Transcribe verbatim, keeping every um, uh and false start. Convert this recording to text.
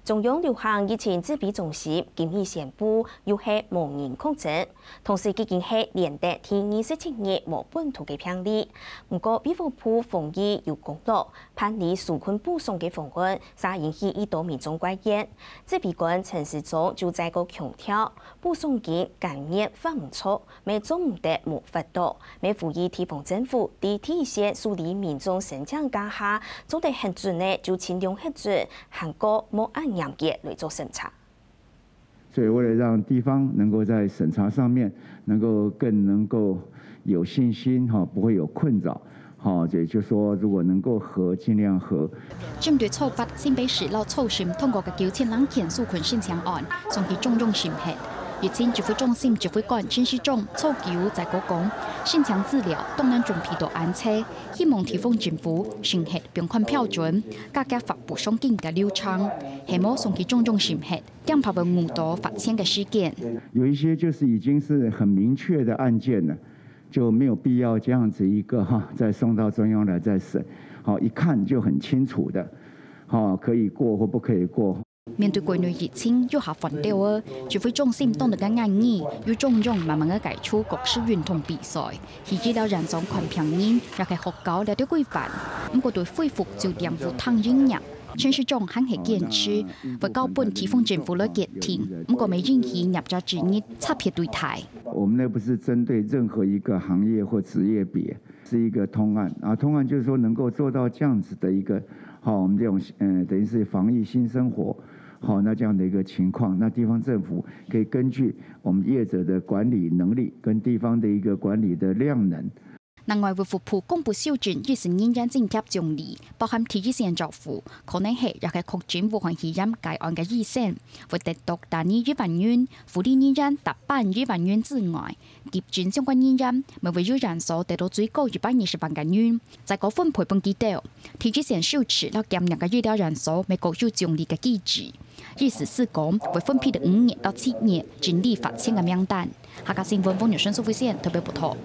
中央流行疫情指揮中心今日宣布，又係無人確診，同時已經係連得第二十七日無本土个病例。毋過，衛福部防疫有公告，辦理紓困補償个方案，煞引起已多民眾怪怨。指揮官陳時中就再過強調，補償金甘願發毋著， 乜做毋得無法度，乜呼籲地方政府在第一線處理民眾申請該下，做得核准个就盡量核准，還過莫恁嚴格來做審查。所以為了讓地方能夠在審查上面能夠更能夠有信心，哈，不會有困擾，哈，也就是說，如果能夠核，盡量核。 針對初八新北市摎初十通過个九千零件紓困申請案，送去中央審核。疫情指揮中心指揮官陳時中初九再過講，申請資料當然準備到恁齊，希望地方政府審核放寬標準，加強發補償金个流程，係無送去中央審核，驚怕會誤到發錢个時間。有一些就是已經是很明確的案件了，就沒有必要這樣子一個哈，再送到中央來再審。好，一看就很清楚的，好，可以過或不可以過。 面對國內疫情又下翻兜仔，指揮中心當日个言語，由中央慢慢个解除各式運動比賽，去醫療院所看病人，也係學校這兜規範。毋過對恢復酒店無糖飲食，陳時中還係堅持，會交分地方政府來決定，毋過乜允許業者之一差別對待。我們那不是針對任何一個行業或職業別，是一個通案啊，通案就是說能夠做到這樣子的一個，好，我們這種，呃，等於是防疫新生活， 好，那這樣的一個情況，那地方政府可以根據我們業者的管理能力跟地方的一個管理的量能。另外，衛福部公布修正醫事人員津貼獎勵，包含第一線照護，可能係也係確診武漢肺炎個案个醫生，會得到單日一萬元，護理人員達半一萬元之外， 急診相關人員，乜會有院所得到最高一百二十萬个銀，再過分配分佢兜。第一線收治摎檢疫个醫療院所，乜各有獎勵个機制。意思係講，會分配五日到七日整理發錢个名單。客家新聞黃玉順、蘇慧仙特別報導。